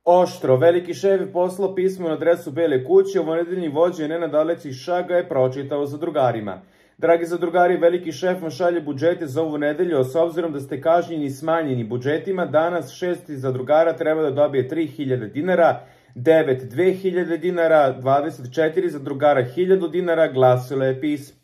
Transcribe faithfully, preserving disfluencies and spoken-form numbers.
Oštro, veliki šef je poslao pismo na adresu Bele kuće, ovonedeljni vođa Nenad Aleksić ga je pročitao zadrugarima. Dragi zadrugari, veliki šef vam šalje budžete za ovu nedelju, a s obzirom da ste kažnjeni smanjeni budžetima, danas šesti zadrugara treba da dobije tri hiljade dinara, devet dve hiljade dinara, dvadeset četiri zadrugara hiljadu dinara, glasilo je pismo.